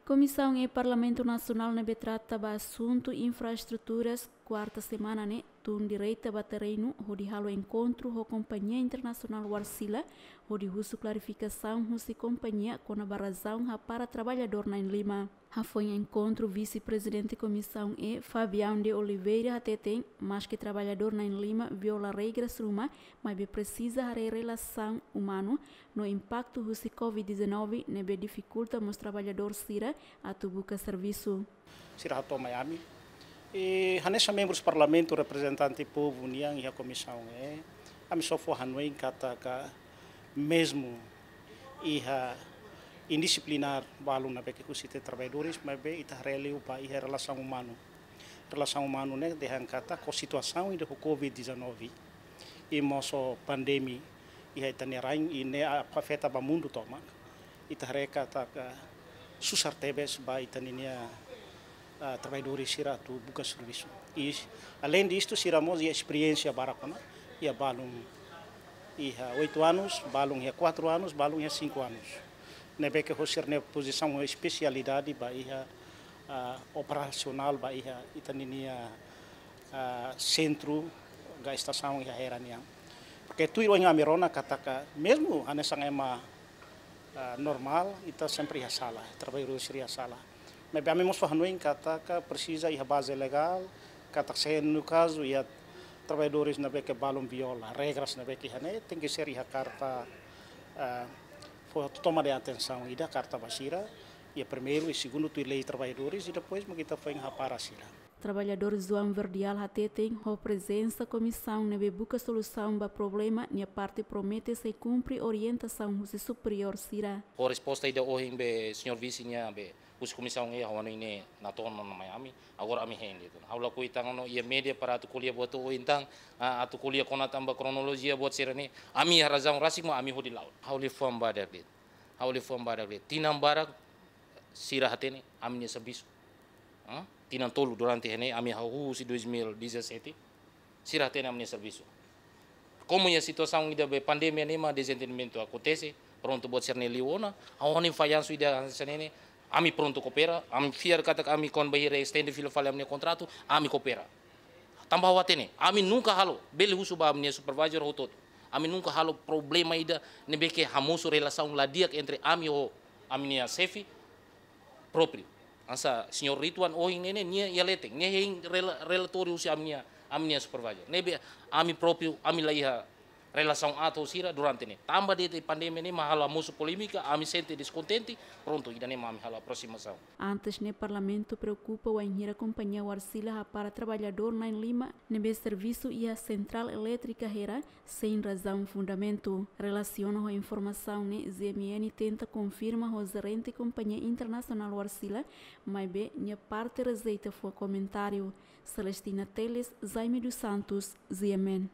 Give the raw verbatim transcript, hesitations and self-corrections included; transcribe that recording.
Komisaun E Parlamentu Nasionál ne'ebé trata ba asuntu infraestruturas, kuarta semana ne'e tun direta ba terrenu hodi halo enkontru ho kompañia internasionál Wärtsilä hodi husu klarifikasaun husi kompañia kona-ba razaun hapara traballadór na'in-lima. Hafoin enkontru, Vise-Prezidente Komisaun E, Fabião de Oliveira, hateten, maske traballadór na'in-lima viola regras ruma, maibé presiza haree relasaun umanu no impaktu husi covid dezanove ne'ebé difikulta mós traballadór sira atu buka servisu. Sira hato'o mai ami. I hanesan membrus parlamentu reprezentante povu nian iha komisaun E, ami só fó hanoin katak mezmu iha indisiplinár balun ne'ebé ke husi ita-nia traballadores, maibé ita haree liu ba iha relasaun umanu. Relasaun umanu ne'e dehan katak ho situasaun ida ho covid dezanove i mós ho pandemia iha ita-nia rain i ne'e afeta ba mundu tomak. Ita haree katak susar tebes ba ita-nia, ah, traballadores sira atu buka servisu. I além disto, sira mós iha esperiénsia barak ona, iha balun iha oito anos, balun iha quatro anos, balun iha cinco anos. Ne'ebé ke ho sira-nia pozisaun, ho espesialidade ba iha, ah, operasionál ba iha ita-nia, ah, sentru ka estasaun iha Hera nian. Porke tuir ohin ami rona katak mezmu hanesan ema, ah, normál, ita sempre iha sala, traballadór sira iha sala. Maibé ami mós fó hanoin katak presiza iha baze legál, katak se no kazu iha traballadores ne'ebé ke balun viola regras ne'ebé ke iha ne'e, tenke ser iha karta, ah, fó toma de atensaun ida, karta ba sira, iha primeiru i segundu tuir lei traballadores i depois mak ita foin hapara sira. Traballadór João Verdial hateten, ho prezensa komisaun ne'ebé buka solusaun ba problema, nia parte promete sei kumpre orientasaun husi superiór sira. Ho resposta ida ohin be señór vise nian be husi komisaun E, ha'u hanoin ne'e natoon ona mai ami. Agora ami hein de'it. Ha'u lakohi tan ona iha média para atu ko'alia buat ohin tan, ah, atu ko'alia kona-ba kronolojia buat sira-ne'e. Ami iha razaun rasik mak ami hodi la'o. Ha'u liafuan badak de'it. Ha'u liafuan badak de'it. Tinan barak sira hatene ami-nia servisu. Hã? Tinan tolu durante iha ne'e ami hahú husi dois mil e dezassete. Sira hatene ami-nia servisu. Komu iha situasaun ida be pandemia ne'e mak dezentendimentu akontese, prontu buat sira-ne'e liu ona, ha'u hanoin fallansu ida hanesan ne'e, ami prontu koopera, ami fiar katak ami kona-ba hira estende fila fali ami-nia kontratu, ami koopera. Tanba ha'u hatene, ami nunka halo, bele husu ba ami-nia supervisor hotu-hotu. Ami nunka halo problema ida ne'ebé ke hamosu relasaun la di'ak entre ami ho ami-nia xefe própriu. Hanesan señór Rituan ohin ne'e, nia iha leten, nia hein rela-, relatóriu husi ami-nia, ami-nia supervisor. Ne'ebé ami própriu, ami la iha relasaun aat ho sira durante ne'e. Tanba de'it pandemia ne'e mak halo hamosu polémika, ami sente deskontente, prontu, ida-ne'e mak ami halo aproximasaun. Antes ne'e, Parlamentu preokupa wainhira kompañia Wärtsilä hapara traballadór na'in-lima ne'ebé servisu iha sentrál elétrika Hera sein razaun fundamentu. Relasiona ho informasaun ne'e, G M N tenta konfirma ho jerente kompañia internasionál Wärtsilä, maibé nia parte rejeita fó komentáriu. Celestina Teles, Jaime dos Santos, G M N.